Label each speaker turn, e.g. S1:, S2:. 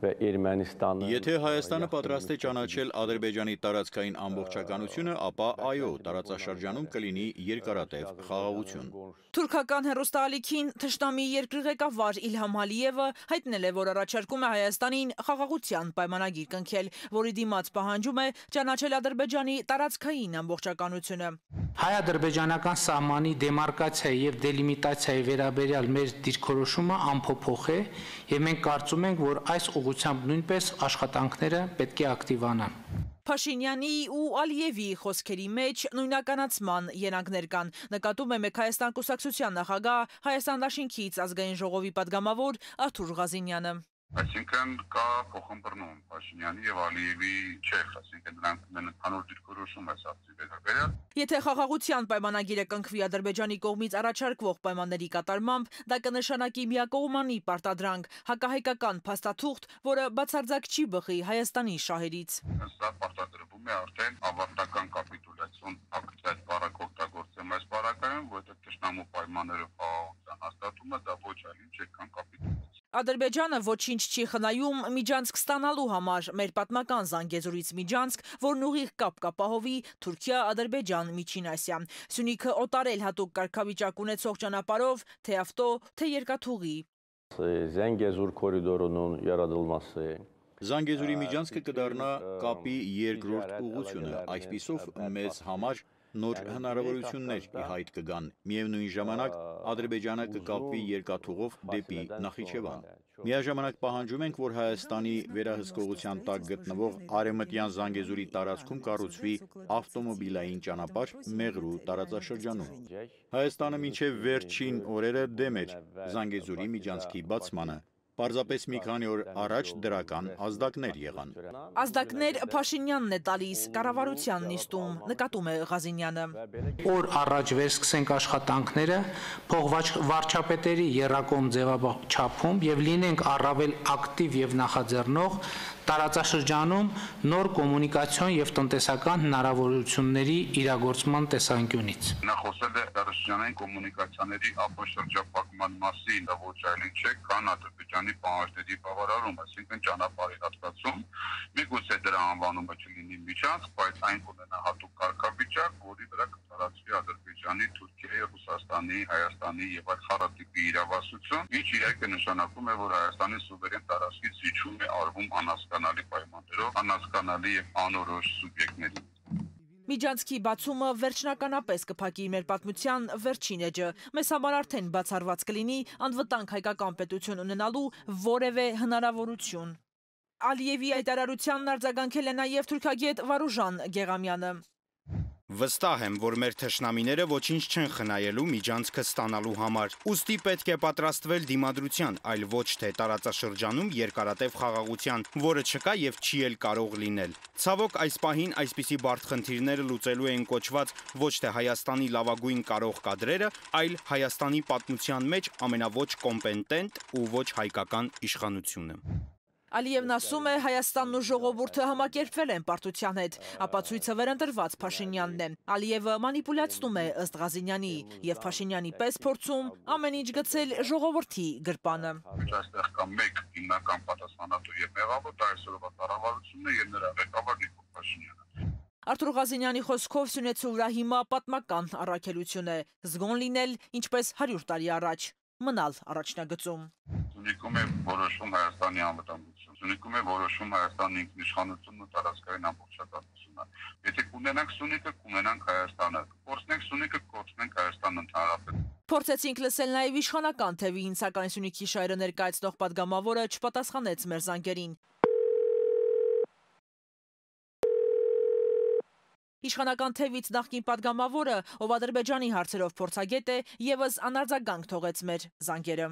S1: Եթե Հայաստանը պատրաստ է ճանաչել Ադրբեջանի տարածքային ամբողջականությունը, ապա այո, տարածաշրջանում կլինի երկարատև խաղաղություն։
S2: Թուրքական հեռուստաալիքին թշնամի երկրի ղեկավար Իլհամ Ալիևը հայտնել է, որ առաջարկում է Հայաստանին խաղաղության պայմանագիր կնքել, որի դիմաց պահանջում է ճանաչել Ադրբեջանի տարածքային ամբողջականությունը։
S3: Հայ-ադրբեջանական սահմանի դեմարկացիայի եւ դելիմիտացիայի վերաբերյալ մեր դիրքորոշումը անփոփոխ է, եւ մենք կարծում ենք, որ այս ուղղությամբ նույնպես աշխատանքները պետք է ակտիվանան։
S2: Փաշինյանի ու Ալիևի խոսքերի մեջ նույնականացման երանգներ կան, նկատում է Մեկ Հայաստան կուսակցության նախագահ, Հայաստան դաշինքից ազգային ժողովի падգամավոր Արթուր Ղազինյանը։
S4: Այսինքն կա փոխըմբռնում Փաշինյանի եւ Ալիևի չեխ, այսինքն նրանք ունեն ընդհանուր դիրքորոշում այս հարցի վերաբերյալ։
S2: Եթե խաղաղության պայմանագիրը կնքվի Ադրբեջանի կողմից առաջարկվող պայմանների կատարմամբ, դա կնշանակի միակողմանի պարտադրանք, հակահայկական փաստաթուղթ, որը բացարձակ չի բխի Հայաստանի շահերից։
S4: Սա պարտադրվում է արդեն ավարտական կապիտուլյացիոն ակտ այդ բառը օգտագործեմ այս բառակայում, որտեղ ճշտամու պայմաններով խաղաղության հաստատումը դա ոչ այլ ինչ է, քան կապիտուլյացիա։
S2: Ադրբեջանը ոչինչ չի խնայում միջանցք ստանալու համար, մեր պատմական Զանգեզուրից միջանցք, որն ուղիղ կապ կապահովի Թուրքիա-Ադրբեջան Միջին Ասիա։ Սյունիքը օտարել հատուկ կարգավիճակ ունեցող ճանապարհով, թե ավտո, թե երկաթուղի։
S5: Զանգեզուր կորիդորունun yaradılması
S1: Զանգեզուրի միջանցքը կդառնա կապի երկրորդ ուղղությունը, այսպիսով մեզ համար նոր հնարավորություններ ի հայտ կգան։ Միևնույն ժամանակ Ադրբեջանը կկապվի երկաթուղով դեպի Նախիջևան։ Միաժամանակ պահանջում ենք, որ Հայաստանի վերահսկողության տակ գտնվող Արևմտյան Զանգեզուրի տարածքում կառուցվի ավտոմոբիլային ճանապարհ Մեղրու տարածաշրջանում։ Հայաստանը մինչև վերջին օրերը դեմ էր Զանգեզուրի միջանցքի բացմանը։ Պարզապես մի քանի օր առաջ դրական ազդակներ եղան։
S2: Ազդակներ Փաշինյանն է տալիս կառավարության նիստում, նկատում է Ղազինյանը։
S3: Օր առաջ վերսկսենք աշխատանքները, փոխվարչապետերի եռակողմ ձևաչափում եւ լինենք առավել ակտիվ եւ նախաձեռնող տարածաշրջանում նոր կոմունիկացիոն եւ տնտեսական հնարավորությունների իրագործման տեսանկյունից։
S4: Նա խոսել է տարածաշրջանային կոմունիկացիաների ապաշրջապակման մասին, դա ոչ այլ ինչ է, քան Ադրբեջանի պահանջների բավարարում, այսինքն ճանապարհի հատկացում, միգուցե դրա անվանումը չլինի միջանցք, բայց այն կունենա հատուկ կարգավիճակ, որի վրա կտարածվի Ադրբեջանի, Թուրքիայի, Ռուսաստանի, Հայաստանի եւ այլ խառատիպի իրավասություն, ինչ իրականում նշանակում է, որ Հայաստանի սուվերեն տարածքից զիջում է արվում անհասկանալի պայմաններով, անհասկանալի եւ անորոշ սուբյեկտների։
S2: Միջանցքի բացումը վերջնականապես կփակի մեր պատմության վերջին էջը։ Մեզ համար արդեն բացառված կլինի անվտանգ հայկական պետություն ունենալու որևէ հնարավորություն։ Ալիևի հայտարարությանն արձագանքել է նաև թուրքագետ Վարուժան Գեղամյանը։
S6: Վստահ եմ, որ մեր թշնամիները ոչինչ չեն խնայելու միջանցքը ստանալու համար։ Ուստի պետք է պատրաստվել դիմադրության, այլ ոչ թե տարածաշրջանում երկարատև խաղաղության, որը չկա եւ չի էլ կարող լինել։ Ցավոք, այս պահին այսպիսի բարդ խնդիրները լուծելու են կոչված ոչ թե Հայաստանի լավագույն կարող կադրերը, այլ Հայաստանի պատմության մեջ ամենավոչ կոմպետենտ ու ոչ հայկական իշխանությունը։
S2: Ալիևն ասում է, Հայաստանն ու ժողովուրդը համակերպվել են պարտության հետ, ապացույցը վերընտրված Փաշինյանն է։ Ալիևը մանիպուլյացնում է ըստ Ղազինյանի եւ Փաշինյանի պես փորձում ամեն ինչ գցել ժողովրդի գրպանը։
S4: Այստեղ կա մեկ հիմնական պատասխանատու եւ մեղավոր, դա այսօրվա կառավարությունն է եւ նրա ղեկավար Նիկոլ Փաշինյանը։
S2: Արթուր Ղազինյանի խոսքով Սյունեցու վրա հիմա պատմական առաքելություն է, զգոն լինել ինչպես 100 տարի առաջ, մնալ առաջնագծում։
S4: Սյունիքում է որոշում Հայաստանի անվտանգություն, Սյունիքում է որոշում Հայաստանի ինքնիշխանությունն ու տարածքային ամբողջականությունը։ Եթե կունենանք Սյունիքը, կունենանք Հայաստանը, կորցնենք Սյունիքը, կորցնենք Հայաստանն ընդհանրապես։
S2: Փորձեցինք լսել նաև իշխանական թևին, սակայն Սյունիքի շահերը ներկայացնող падգամավորը չպատասխանեց մեր զանգերին։ Իշխանական թևից նախկին падգամավորը, ով Ադրբեջանի հարցերով փորձագետ է, եւս անարձագանք թողեց մեր զանգերը։